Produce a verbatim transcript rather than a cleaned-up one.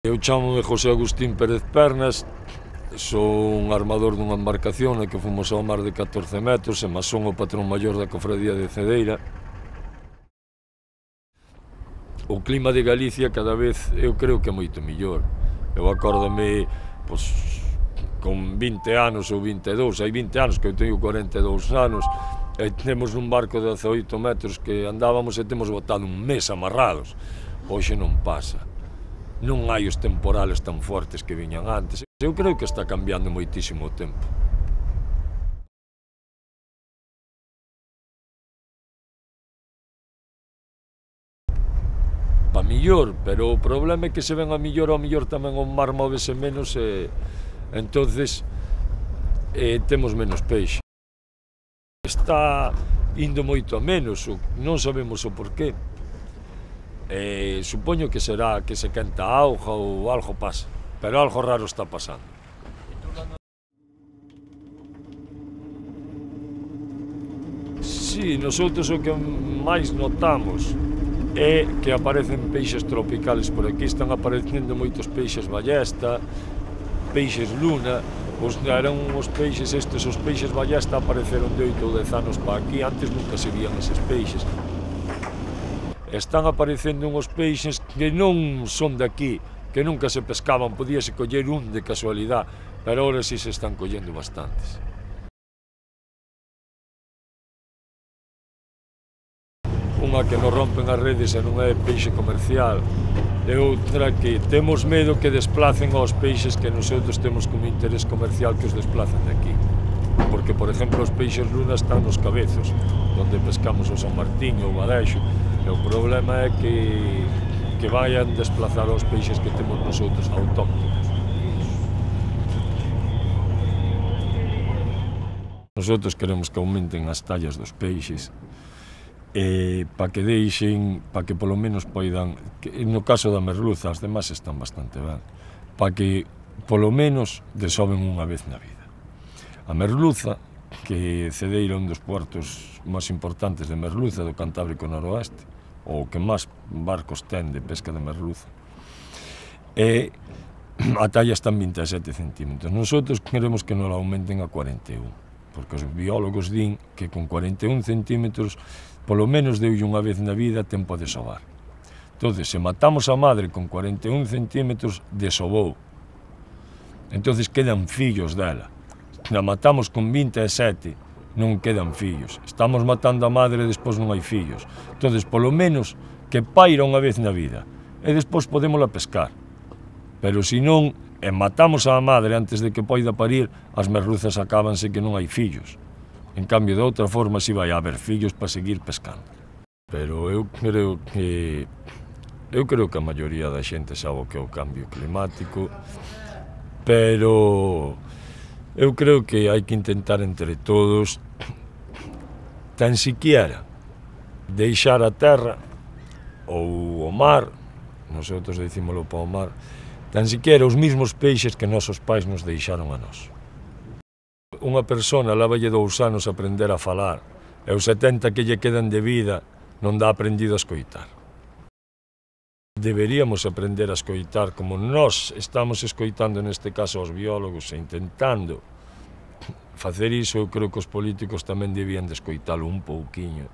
Eu chámome José Agustín Pérez Pernas, sou un armador dunha embarcación na que fomos ao mar de catorce metros e mas son o patrón maior da cofradía de Cedeira. O clima de Galicia cada vez eu creo que é moito mellor. Eu acórdome, pois, con vinte anos ou vinte e dous, hai vinte anos que eu teño cuarenta e dous anos, e temos un barco de dezaoito metros que andábamos e temos botado un mes amarrados. Hoxe non pasa. Non hai os temporales tan fortes que viñan antes. Eu creo que está cambiando moitísimo o tempo. Pa millor, pero o problema é que se ven a millor, ao millor tamén o mar móvese menos e entonces eh, temos menos peixe. Está indo moito a menos, non sabemos o porqué. Eh, supoño que será que se quenta a auga ou algo pasa, pero algo raro está pasando. Si, nosotros o que máis notamos é que aparecen peixes tropicales por aquí, están aparecendo moitos peixes ballesta, peixes luna, os, eran os peixes estes, os peixes ballesta apareceron de oito ou dez anos para aquí, antes nunca se vían eses peixes. Están aparecendo uns peixes que non son de aquí, que nunca se pescaban, podíase coller un de casualidade, pero ahora si se están collendo bastantes. Unha que nos rompen as redes e non é peixe comercial, e outra que temos medo que desplacen aos peixes que nosotros temos como interés comercial que os desplacen de aquí. Porque, por exemplo, os peixes luna están nos cabezos, onde pescamos o San Martín ou o Badexo, e o problema é que, que vayan desplazar os peixes que temos nosotros autóctonos. Nosotros queremos que aumenten as tallas dos peixes, e para que deixen, para que polo menos poidan, que, no caso da merluza, as demás están bastante ben, para que polo menos desoben unha vez na vida. A merluza, que Cedeira é un dos puertos máis importantes de merluza do Cantábrico Noroeste, ou que máis barcos ten de pesca de merluza, e a talla está en vinte e sete centímetros. Nosotros queremos que nos aumenten a cuarenta e un, porque os biólogos din que con cuarenta e un centímetros polo menos deulle unha vez na vida tempo a desovar. Entón, se matamos a madre con cuarenta e un centímetros, desobou. Entón, quedan fillos dela. Se a matamos con vinte e sete, non quedan fillos. Estamos matando a madre e despois non hai fillos. Entón, polo menos, que paira unha vez na vida. E despois podémola pescar. Pero se non, e matamos a madre antes de que poida parir, as merluzas acábanse que non hai fillos. En cambio, de outra forma, si vai haber fillos para seguir pescando. Pero eu creo que... Eu creo que a maioría da xente sabe o que é o cambio climático, pero... Eu creo que hai que intentar entre todos, tan siquiera, deixar a terra, ou o mar, nosotros dicímolo para o mar, tan siquiera os mesmos peixes que nosos pais nos deixaron a nós. Unha persona lavalle dous anos aprender a falar, e os setenta que lle quedan de vida non dá aprendido a escoitar. Deberíamos aprender a escoitar como nós estamos escoitando neste caso aos biólogos e intentando facer iso. Eu creo que os políticos tamén debían de escoitalo un pouquiño.